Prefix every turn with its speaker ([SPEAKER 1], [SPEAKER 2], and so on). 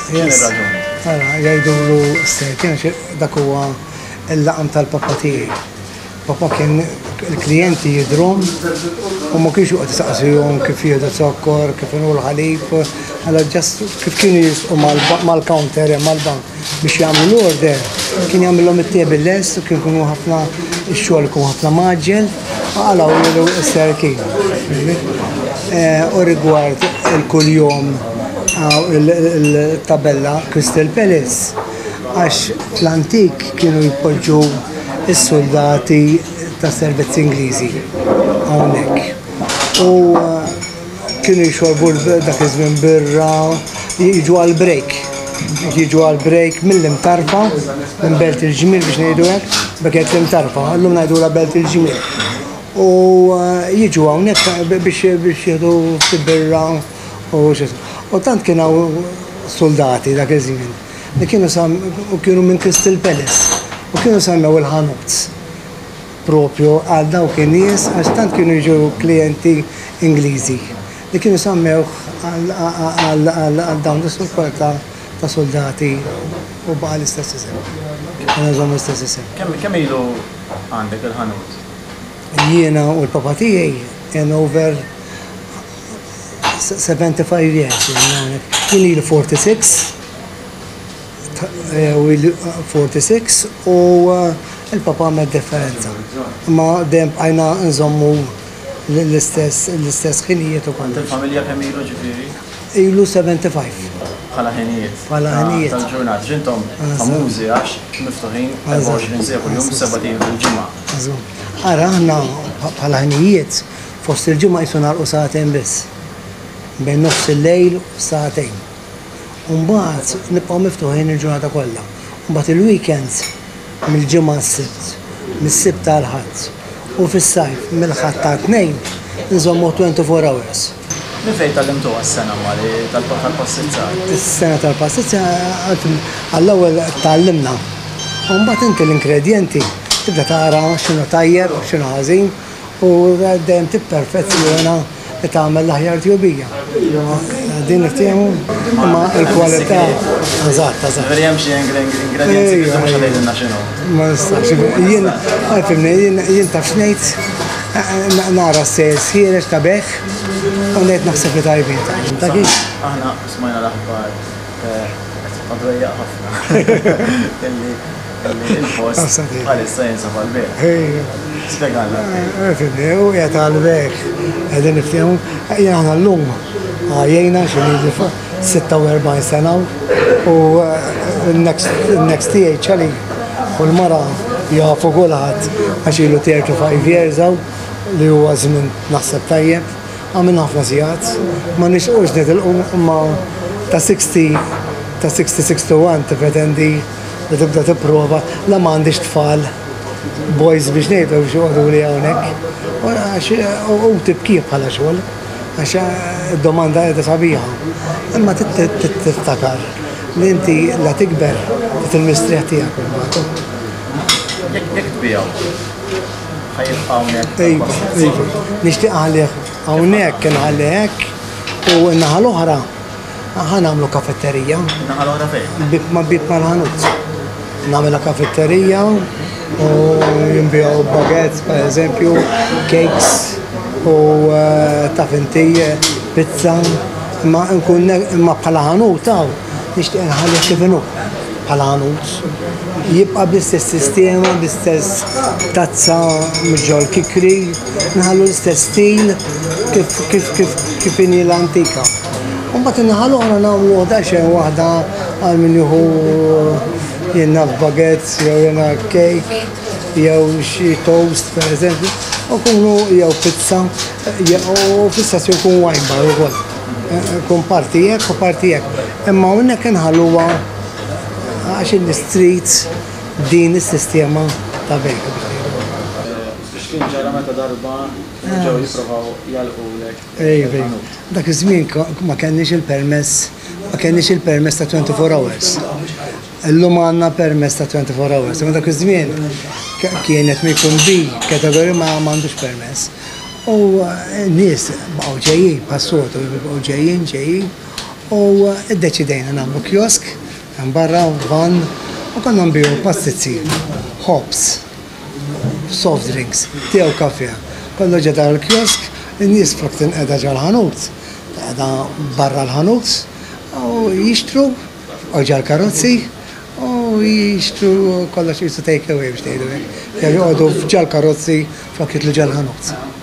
[SPEAKER 1] X'inhi r-raġuni?
[SPEAKER 2] Ara, jgħidulu Sir Ken għax dak huwa l-laqam tal-papa tiegħi. Papa kien il-klijenti jidhrom u ma kienx joqgħod isaqsihom kif jieħdu zokkor, kif inhu l-ħalib, għala just kif kienu jisqu mal-counter hemm mal-bank biex jagħmlu l-order, kien jagħmilhom it-te bil-lest u kien ikunu ħafna x-xogħol ikun ħafna mgħaġġel, u qalgħu Sir Ken. U rigward il-kuljum il-tabella Crystal Palace, għax fl-antik kienu jpoġġu s-suldati tas-servizz Ingliżi hawnhekk. U kienu jxorbu dak iż-żmien birra, jiġu għal break. Jiġu għal break mill-Imtarfa, minn Belt il-Ġmiel biex ngħidu hekk, bekket l-Imtarfa, llum ngħidulha Belt il-Ġmiel. U jiġu hawnhekk biex jieħdu ftit birra u U tant kien hawn soldati dak iż-żmien li kienu u kienu minn Crystal Palace u kienu semmew il-ħanut propju għal dawk in-nies għax tant kienu jiġu klijenti Ingliżi li kienu semmewh għal dawn is-sopporta ta' soldati u baqa' l-istess isem. Għandna nżommu l-istess isem.
[SPEAKER 1] Kemm ilu għandek il-ħanut?
[SPEAKER 2] Jiena u l-papa tiegħi in over 75 years. Jien ili 46 u 46 u il-papa għamel differenza. Ma dejjem bqajna nżommu l-istess l-istess ħinijiet u kollox.
[SPEAKER 1] Il-familja kemm ilu ġifieri?
[SPEAKER 2] Ilu 75.
[SPEAKER 1] Bħala ħinijiet.
[SPEAKER 2] Bħala ħinijiet.
[SPEAKER 1] Tal-ġurnata. X'intom famużi għax miftuħin 24 siegħa kuljum, seba' ijiem fil-ġimgħa.
[SPEAKER 2] Ara aħna bħala ħinijiet fost il-ġimgħa qisu nagħlqu sagħtejn biss. Bejn nofs il-lejl u sagħtejn. U mbagħad nibqgħu miftuħin il-ġurnata kollha. U mbagħad il-weekends mill-Ġimgħa għas-Sibt, mis-Sibt għall-Ħadd u fis-sajf mill-Ħadd għat-Tnejn nżommuh 24 hours.
[SPEAKER 1] Minn fejn tgħallimtuha s-sengħa Mari tal-pastizzar?
[SPEAKER 2] Is-sengħa tal-pastizzar għall-ewwel tgħallimna. U mbagħad inti l-ingredjenti tibda tara x'inhu tajjeb, x'inhu ħażin u dejjem tipperfezzjona li tagħmel l-aħjar tjubija. Din niftehmu imma l-kwalità eżatt, eżatt.
[SPEAKER 1] Ġifieri hemm xi ingredjenzi li mhux tgħidilna x'inhu.
[SPEAKER 2] Ma nistax. Jien fimni, jien taf x'ngħid nara s-sales ħiereġ ta' bejgħ u ngħid naħseb li tajbin. Ta' kif?
[SPEAKER 1] Aħna smajna l-aħbar qed tibqa' dwejjaq ħafna illi il-post bħalissa jinsab għall-bejgħ. Spjegalna.
[SPEAKER 2] Fimni, u qiegħed għall-bejgħ. Qegħdin niftehmu. Jien aħna llum għajjejna xi ngħidu 46 sena u n-next tiegħi ċali u l-mara jafu kulħadd għax ilu 35 years hawn li huwa żmien naħseb tajjeb. Għamilna ħafna sigħat, ma nixtiequx nitilqu imma ta' 60 ta' 60 61 tippretendi li tibda tipprova la ma għandix tfal boys biex ngħidu biex joqogħduli hawnhekk. Għax hu tibkih bħala xogħol għax id-domanda qiegħda sabiħa. Imma tiftakar li inti la tikber trid il-mistrieħ tiegħek imbagħad.
[SPEAKER 1] Jekk tbigħu, ħa jibqa' hawnhekk?
[SPEAKER 2] Iva, iva. Nixtieq nħallih hawnhekk, inħallih hekk u n-naħa l-oħra Ħa nagħmlu kafetterija.
[SPEAKER 1] Naħa l-oħra fejn?
[SPEAKER 2] Bib ma' bib mal-ħanut. Nagħmilha kafetterija u jinbiegħu baguettes per eżempju, cakes u eh, taf inti pizza. Imma nkun imma bħala ħanut hawn nixtieq nħallih kif inhu bħala ħanut. Jibqa' bl-istess sistema, bl-istess tazza mhux ġol kikri, nħallu l-istess stil kif kif kif kif inhi l-antika. U mbagħad in-naħa l-oħra nagħmlu daqsxejn waħda għal min jieħu jien naf baguettes jew jiena cake jew xi toast pereżempju, u kunu jew pizza u fl-istess jkun wine bar ukoll. Ikun parti hekk u parti hekk. Imma hawnhekk inħalluha għax in-nies trid din is-sistema ta' bejgħ biex ngħidu hekk.
[SPEAKER 1] X'kien ġara meta darba kienu ġew jipprovaw jagħlqulek
[SPEAKER 2] Iva, iva. Dak iż-żmien ma kellniex il-permess, ma kellniex il-permess ta' 24 hours. Illum għandna permess ta' 24 hours, imma dak iż-żmien kienet ma jkun B kategorija ma m'għandux permess. U n-nies baqgħu ġejjin bħas-soltu, baqgħu ġejjin, ġejjin. U iddeċidejna nagħmlu kiosk hemm barra van u konna nbigħu pastizzi, ħobż, soft drinks, te u kafè. Kollox ġo dan il-kiosk, in-nies flok tinqeda ġol-ħanut, tinqeda barra l-ħanut u jixtru u ġol-karozzi u jixtru kollox qisu take away biex ngħidu hekk. Jew joqogħdu ġol-karozzi flok jidħlu ġol-ħanut.